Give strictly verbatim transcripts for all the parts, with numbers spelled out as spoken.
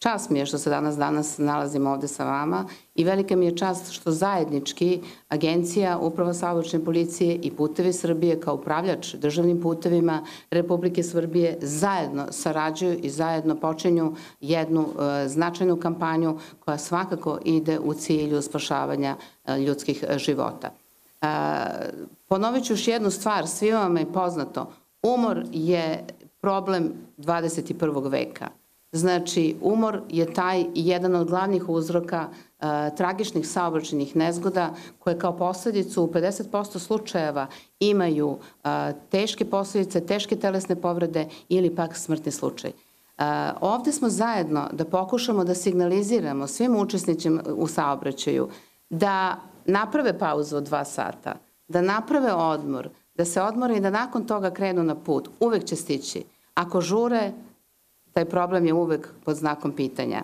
Čast mi je što se danas danas nalazim ovde sa vama i velika mi je čast što zajednički Agencija Uprava saobraćajne policije i Putevi Srbije kao upravljač državnim putevima Republike Srbije zajedno sarađuju i zajedno počinju jednu e, značajnu kampanju koja svakako ide u cilju spašavanja e, ljudskih života. E, ponovit ću još jednu stvar, svima vam je poznato, umor je problem dvadeset i prvog veka. Znači, umor je taj jedan od glavnih uzroka e, tragičnih saobraćajnih nezgoda koje kao posledicu u pedeset posto slučajeva imaju e, teške posledice, teške telesne povrede ili pak smrtni slučaj. E, ovde smo zajedno da pokušamo da signaliziramo svim učesnicima u saobraćaju da naprave pauzu od dva sata, da naprave odmor, da se odmore i da nakon toga krenu na put. Uvek će stići. Ako žure, taj problem je uvek pod znakom pitanja.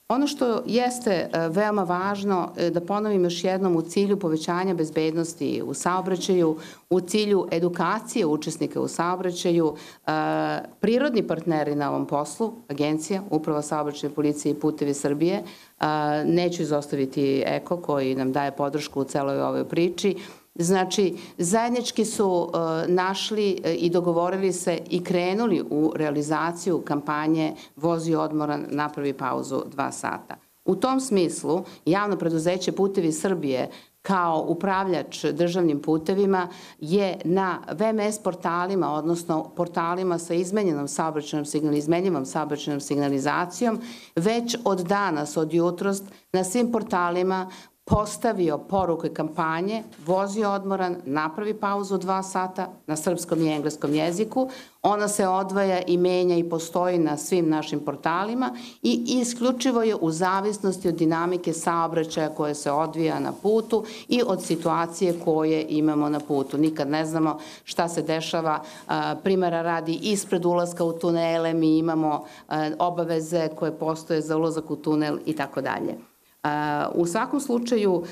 Ono što jeste veoma važno, da ponovim još jednom, u cilju povećanja bezbednosti u saobraćaju, u cilju edukacije učesnika u saobraćaju, prirodni partneri na ovom poslu, Agencija, Uprava saobraćajne policije i Putevi Srbije, neću izostaviti Eko koji nam daje podršku u celoj ovoj priči. Znači, zajednički su našli i dogovorili se i krenuli u realizaciju kampanje Vozi odmoran, napravi pauzu dva sata. U tom smislu, javno preduzeće Putevi Srbije kao upravljač državnim putevima je na ve em es portalima, odnosno portalima sa izmenjenom saobraćajnom signalizacijom, izmenjivom saobraćajnom signalizacijom, već od danas, od jutros, na svim portalima postavio poruke kampanje Vozi odmoran, napravi pauzu dva sata na srpskom i engleskom jeziku. Ona se odvaja i menja i postoji na svim našim portalima i isključivo je u zavisnosti od dinamike saobraćaja koje se odvija na putu i od situacije koje imamo na putu. Nikad ne znamo šta se dešava. Primera radi, ispred ulaska u tunele mi imamo obaveze koje postoje za ulazak u tunel i tako dalje. U svakom slučaju,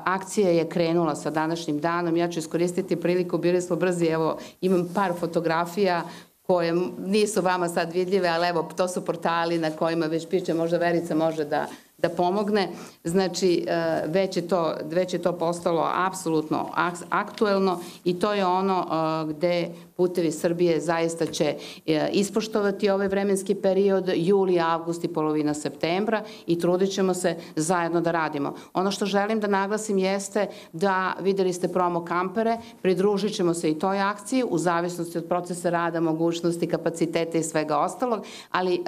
akcija je krenula sa današnjim danom. Ja ću iskoristiti priliku, bili smo brzi, evo, imam par fotografija koje nisu vama sad vidljive, ali evo, to su portali na kojima već piše, možda Verica može da da pomogne. Znači, već je to, već je to postalo apsolutno aktuelno i to je ono gde Putevi Srbije zaista će ispoštovati ovaj vremenski period, juli, avgust i polovina septembra i trudit ćemo se zajedno da radimo. Ono što želim da naglasim jeste da videli ste promo kampere, pridružit ćemo se i toj akciji u zavisnosti od procesa rada, mogućnosti, kapaciteta i svega ostalog, ali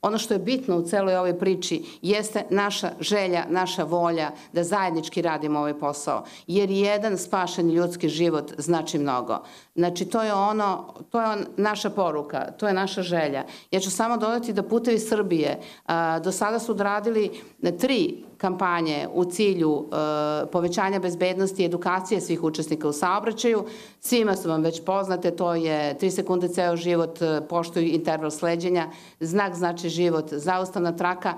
ono što je bitno u celoj ovoj priči jeste naša želja, naša volja da zajednički radimo ovaj posao, jer jedan spašen ljudski život znači mnogo. Znači, to je ono, to je naša poruka, to je naša želja. Ja ću samo dodati da Putevi Srbije do sada su odradili tri kampanje u cilju povećanja bezbednosti i edukacije svih učesnika u saobraćaju. Svima su vam već poznate, to je tri sekunde ceo život, poštuj interval sleđenja, znak znači život, zaustavna traka.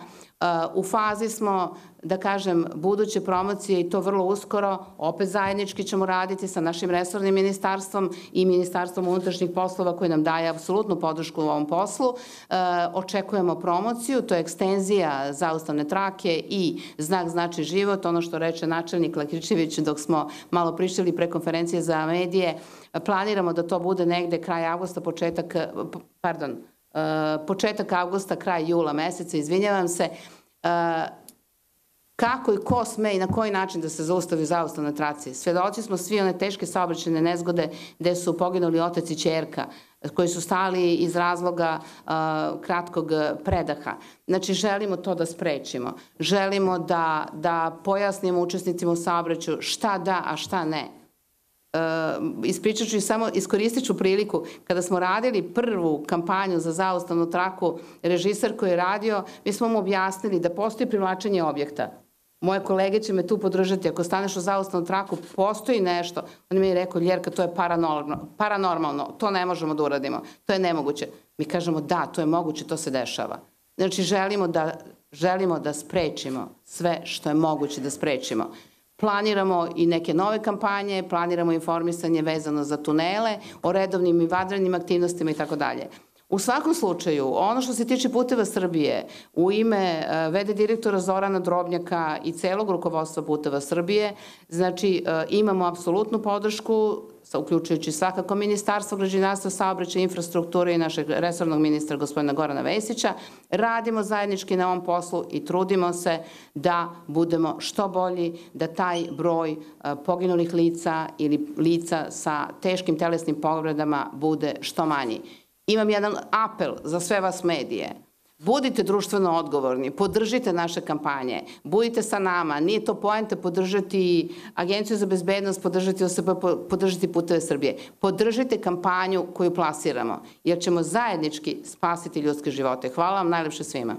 U fazi smo, da kažem, buduće promocije i to vrlo uskoro, opet zajednički ćemo raditi sa našim resornim ministarstvom i Ministarstvom unutrašnjih poslova koji nam daje apsolutnu podršku u ovom poslu. Očekujemo promociju, to je ekstenzija zaustavne trake i znak znači život, ono što reče načelnik Lakričević dok smo malo pričali pre konferencije za medije. Planiramo da to bude negde kraj avgusta, početak, pardon, početak avgusta, kraj jula meseca, izvinjavam se, kako i ko sme i na koji način da se zaustavi zaustavna traci. Svedoci smo svi one teške saobraćajne nezgode gde su poginuli otac i ćerka, koji su stali iz razloga kratkog predaha. Znači, želimo to da sprečimo. Želimo da, da pojasnimo učesnicima u saobraćaju šta da, a šta ne. Ispričat ću i samo, iskoristit ću priliku, kada smo radili prvu kampanju za zaustavnu traku, režiser koji je radio, mi smo mu objasnili da postoji privlačenje objekta. Moje kolege će me tu podržati, ako staneš u zaustavnu traku, postoji nešto. On mi je rekao, Ljerka, to je paranormalno, to ne možemo da uradimo, to je nemoguće. Mi kažemo, da, to je moguće, to se dešava. Znači, želimo da, želimo da sprečimo sve što je moguće da sprečimo. Planiramo i neke nove kampanje, planiramo informisanje vezano za tunele, o redovnim i vanrednim aktivnostima i tako dalje. U svakom slučaju, ono što se tiče Puteva Srbije, u ime v d direktora Zorana Drobnjaka i celog rukovodstva Puteva Srbije, znači imamo apsolutnu podršku, uključujući svakako Ministarstvo građevinarstva, saobraćaja i infrastrukture i našeg resornog ministra gospodina Gorana Vesića. Radimo zajednički na ovom poslu i trudimo se da budemo što bolji, da taj broj poginulih lica ili lica sa teškim telesnim povredama bude što manji. Imam jedan apel za sve vas medije. Budite društveno odgovorni, podržite naše kampanje, budite sa nama, nije to poenta podržati Agenciju za bezbednost, podržati O S P, podržati Puteve Srbije. Podržite kampanju koju plasiramo, jer ćemo zajednički spasiti ljudske živote. Hvala vam najlepše svima.